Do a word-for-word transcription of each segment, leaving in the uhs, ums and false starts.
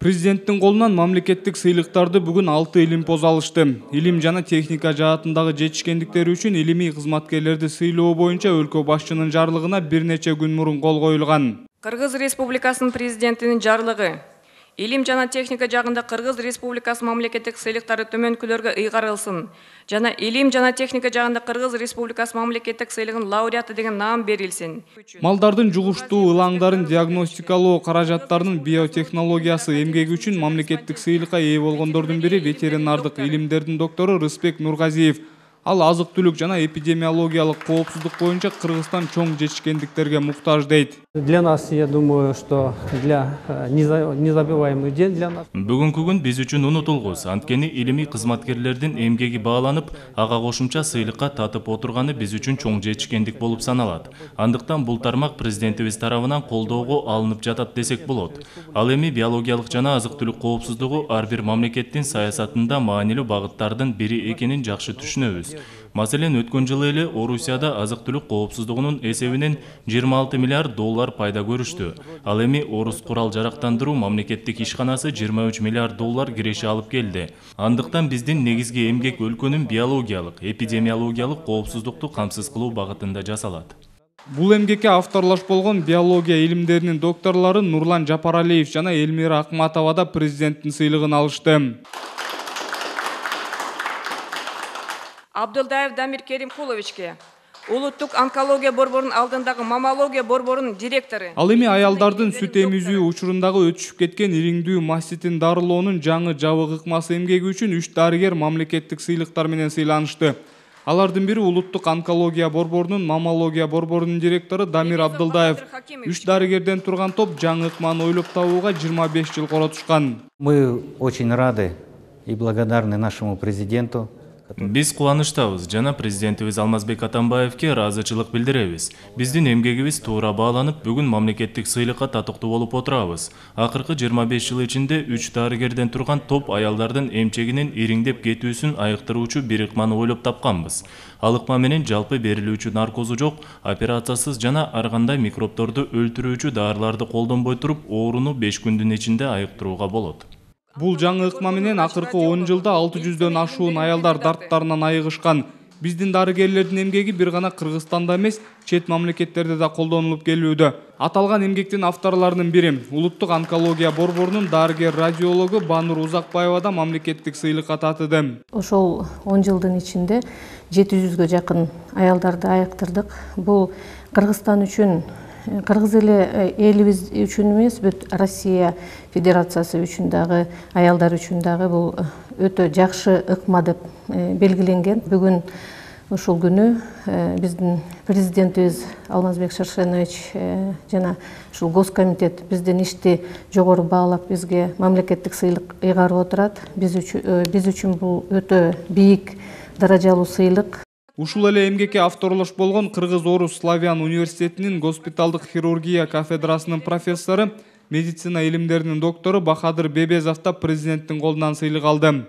Президенттин колунан мамлекеттик сыйлыктарды бүгүн алты илимпоз алышты. Илим жана техника жаатындагы жетишкендиктери үчүн илимий кызматкерлерди сыйлоо боюнча өлкө башчынын жарлыгына бир нече күн мурун кол коюлган. Кыргыз Республикасынын президентинин жарлыгы. Илим жана техника жагында Кыргыз Республикасы мамлекеттик сыйлыктары төмөнкүлөргө ыйгарылсын. Жана илим жана техника жагында Кыргыз Республикасы мамлекеттик сыйлыгынын лауреаты деген наам берилсин. Малдардын жугуштуу ылаңдарын диагностикалоо каражаттарынын биотехнологиясы эмгеги үчүн мамлекеттик сыйлыкка ээ болгондордун бири ветеринардык илимдердин доктору Рыспек Нургазиев. Ал азык-түлүк жана эпидемиологиялык коопсуздук боюнча Кыргызстан чоң жетишкендиктерге муктаж дейт. Для нас, я думаю, что для незабываемый день для нас. Бүгүнкү күн биз үчүн унутулгус. Анткени илимий кызматкерлердин эмгеги бааланып, ага кошумча сыйлыкка татып отурганы биз үчүн чоң жетишкендик болуп саналат. Андыктан бул тармак президентибиз тарабынан колдоого алынып жатат десек болот. Ал эми биологиялык жана азык-түлүк коопсуздугу ар бир мамлекеттин саясатында маанилүү багыттардын бири экенин жакшы түшүнөбүз. Маселен, өткөн жылы эле Орусияда азык-түлүк коопсуздугунун эсебинен жыйырма алты миллиард доллар пайда көрүштү. Ал эми Орус курал жарактандыруу мамлекеттик ишканасы жыйырма үч миллиард доллар киреше алып келди. Андыктан биздин негизги эмгек өлкөнүн биологиялык, эпидемиологиялык коопсуздукту камсыз кылуу багытында жасалат. Бул эмгекке авторлаш болгон биология илимдеринин докторлору Нурлан Жапаралиев жана Элмира Акматова да президенттин сыйлыгын алышты. Абдулдаев Дамир Керимкуловичке, улуттук онкология борборунун алдындагы маммология борборунун директору. Ал эми аялдардын сүт эмизүү учурундагы өтүшүп кеткен ириңдүү маститин дарылоонун жаңы жабык ыкмасы эмгеги үчүн үч дарыгер мамлекеттик сыйлыктар менен сыйланышты. Алардын бири улуттук онкология борборунун маммология борборунун директору Дамир Абдулдаев. Үч дарыгерден турган топ жаңы ыкманы ойлоп табууга жыйырма беш жыл коротушкан. Мы очень рады и благодарны нашему президенту. Биз кубанычтабыз жана президентибиз Алмазбек Атамбаевке ыраазычылык билдиребиз. Биздин эмгегибиз туура бааланып, бүгүн мамлекеттик сыйлыкка татыктуу болуп отурабыз. Акыркы жыйырма беш жыл ичинде үч дарыгерден турган топ аялдардын эмчегинин ириңдеп кетүүсүн айыктыруучу бир ыкманы ойлоп тапканбыз. Ал ыкма менен жалпы берилүүчү наркозу жок, операциясыз жана ар кандай микробторду өлтүрүүчү дарыларды колдонбой туруп, ооруну беш күндүн ичинде айыктырууга болот. Бул жаңы ыкма менен акыркы он жылда алты жүздөн ашуун аялдар дарттарынан айыгышкан. Биздин дарыгерлердин эмгеги бир гана Кыргызстанда эмес, чет мамлекеттерде да колдонулуп келүүдө. Аталган эмгектин авторлорунун бири улуттук онкология борборунун дарыгер радиологу Банур Узакбаева да мамлекеттик сыйлыкка татыды. Ошол он жылдын ичинде жети жүзгө жакын аялдарды айыктырдык. Бул Кыргызстан үчүн, Кыргыз эле элибиз үчүн эмес, бүт Россия Федерациясы үчүн дагы, аялдар үчүн дагы бул өтө жакшы ыкма деп белгиленген. Бүгүн ушул күнү биздин президентибиз Алмазбек Шаршенович жана ушул Госкомитет биздин ишти жогору баалап бизге мамлекеттик сыйлык ыйгарып отурат. Биз үчүн биз үчүн бул өтө бийик даражалуу сыйлык. Ушул эле эмгекке авторлош болгон Кыргыз-Орус Славян университетинин госпиталдык хирургия кафедрасынын профессору, медицина илимдеринин доктору Бахадыр Бебезов да президенттин колунан сыйлык алды.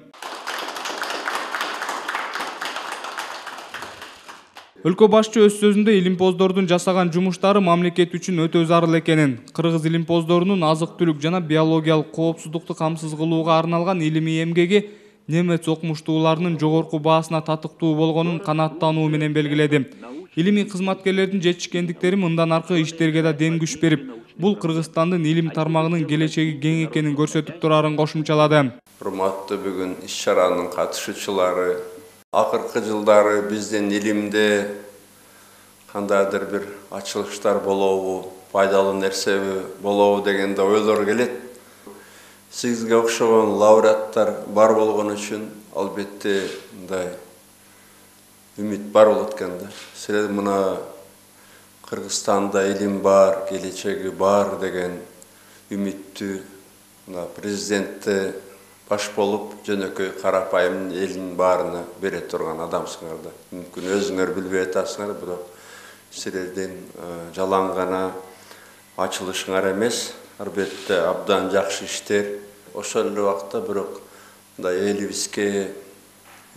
Өлкө башчы өз сөзүндө илимпоздордун жасаган жумуштары мамлекет үчүн өтө зарыл экенин, кыргыз илимпоздорунун азык-түлүк жана биологиялык коопсуздукту камсыз кылууга арналган илимий эмгеги немец окумуштууларынын жогорку баасына татыктуу болгонун канааттануу менен белгиледи. Илимий кызматкерлердин жетишкендиктери мындан аркы иштерге да дем күч берип, бул Кыргызстандын илим тармагынын келечеги кең экенин көрсөтүп турарын кошумчалады. Урматтуу бүгүн иш-чаранын катышуучулары, акыркы жылдары биздин илимде кандайдыр бир ачылыштар болобу, пайдалуу нерсеби болобу дегенде ойлор келет. Сизге окшогон лауреаттар бар болгон үчүн албетте мындай үмүт бар болот экен да. Силер мына Кыргызстанда илим бар, келечеги бар деген үмүттү мына президентте баш болуп жөнөкөй карапайым элдин баарына бере турган адамсыңар да. Мүмкүн өзүңөр билбей атасыңар, бирок силердин жалаң гана ачылышыңар эмес, албетте абдан жакшы иштер. Ошол эле убакта бирок мындай элибизге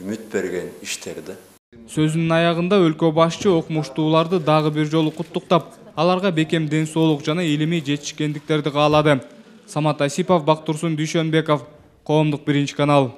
үмүт берген иштер да. Сөзүнүн аягында өлкө башчы окумуштууларды дагы бир жолу куттуктап, аларга бекем ден соолук жана илимий жетишкендиктерди каалады. Самат Асипов, Бактурсун Дүйшөнбеков, Коомдук биринчи канал.